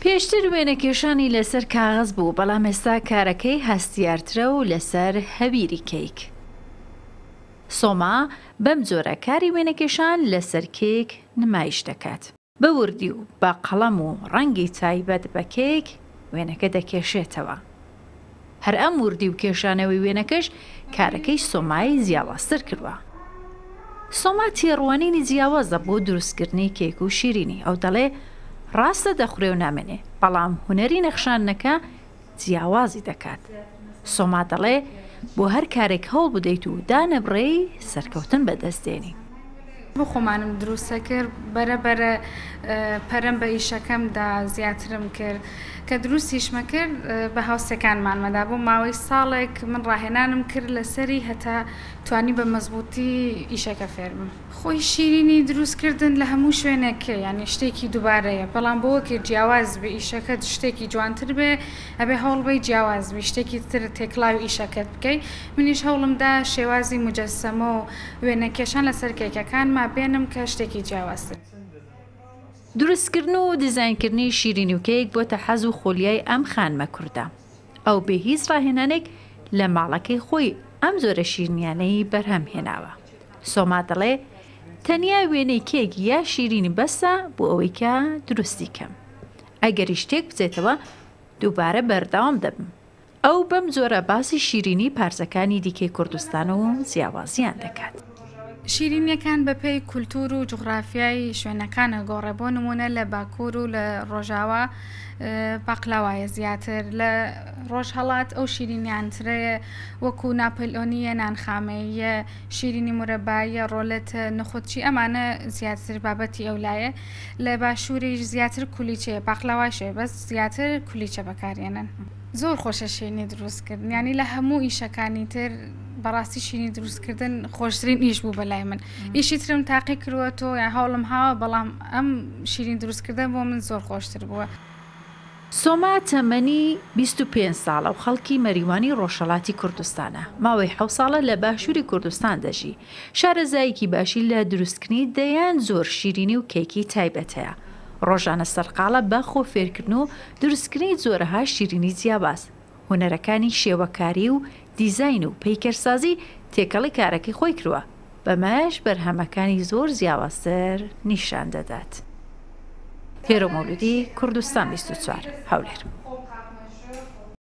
پێشتر وێنەکێشانی لەسەر کاغەز بوو، بەڵام ئێستا کارەکەی هەستیارترە و لەسەر هەویری کەیک. سۆما بەم جۆرە کاری وێنەکێشان لەسەر کێک نمایش دەکات. بە وردی و بە قەڵەم و ڕەنگی تایبەت بە کێک وێنەکە دەکێشێتەوە. هەر ئەم وردی و کێشانەوەی وێنەکەش کارەکەی سۆمای جیاوازتر کردوە. سۆما تێڕوانینی جیاوازە بۆ دروستکردنی کێک و شیرینی، ئەو دەڵێ ڕاستە دەخورێ و نامێنێ، بەڵام هونەری نەخشاندنەکە جیاوازی دەکات. سۆما دەڵێ بۆ هەر کارێک هەوڵ بدەیت و دانەبڕێی سەرکەوتن بەدەست دێنی. بۆ خۆمانم دروست کرد بەرە بەرە پەرەم بە ئیشەکەم دا زیاترم کرد کە دروستیشمە کرد بە هاوسێکانمانمەدا بۆ ماوەی ساڵێک من ڕاهێنانم کرد لەسەری هەتا توانی بە مەزبووتی ئیشەکە فێربم. خۆی شیرینی دروست کردن لە هەموو شوێنێک یانی شتێکی دووبارەیە بەڵام بۆ وەکێ جیاواز بێ ئیشەکەت شتێکی جوانتر بێ ئەبێ هەوڵ بەی جیاواز بی شتێکی تر تێکڵاوی ئیشەکەت بکەی منیش هەوڵم دا شێوازی موجەسەمە و وێنە کێشان لەسەر کێکەکانما بێنم کە شتێکی جیاوازتر. دروستکردن و دیزاینکردنی شیرینی و کێک بۆتە حەز و خولیای ئەم خانمە کوردە. ئەو بێ هیچ ڕاهێنانێک لە ماڵەکەی خۆی ئەم جۆرە شیرنیانەی بەرهەم هێناوە. سۆما دەڵێ، تەنیا وێنەی کێک یا شیرینی بەسە بۆ ئەوەی کە دروستی کەم. ئەگەریش تێک بچێتەوە دووبارە بەردەوام دەبم. ئەو بەم جۆرە باسی شیرینی پارچەکانی دیکەی کوردستان و جیاوازییان دەکات. شیرینیەکان بە پێی کولتوور و جوغرافیای شوێنەکان ئەگۆڕێ، بۆ نموونە لە باکوور و لە ڕۆژاوا پاقلاوایە زیاتر، لە ڕۆژهەڵات ئەو شیرینیانترەیە وەکوو ناپلئۆنییە، نانخامەییە، شیرینی مورەباییە، ڕۆلێتە، نخودچی ئەمانە زیاتر بابەتی ئەو لایە، لە باشووریش زیاتر کولیچەیە، پاقلاوایش هەیە بەس زیاتر کولیچە بەکارێنن. زۆر خۆشە شیرینی دروست کردن یانی لە هەموو ئیشەکانی تر بەڕاستی شیرینی دروست کردن خۆشترین ئیش بوو بەلای من ئیشی ترم تاقی کردووە تۆ یان هەوڵم هاوە بەڵام ئەم شیرین دروست کردن بۆ من زۆر خۆشتر بووە. سۆما تەمەنی 25 ساڵە و خەڵکی مەریوانی ڕۆژهەڵاتی کوردستانە، ماوەی حەوت ساڵە لە باشووری کوردستان دەژی، شارەزایەکی باشی لە دروستکردنی دەیان جۆر شیرینی و کێکی تایبەت هەیە، ڕۆژانە سەرقاڵە بە خۆ فێرکردن و دروستکردنی جۆرەها شیرینی جیاواز، هونەرەکانی شێوەکاری و دیزاین و پەیکەرسازی تێکەڵی کارەکەی خۆی کرووە، بەمەش بەرهەمەکانی زۆر جیاوازتر نیشان دەدات. هێرۆ مەولودی، کوردستان 24، هەولێر.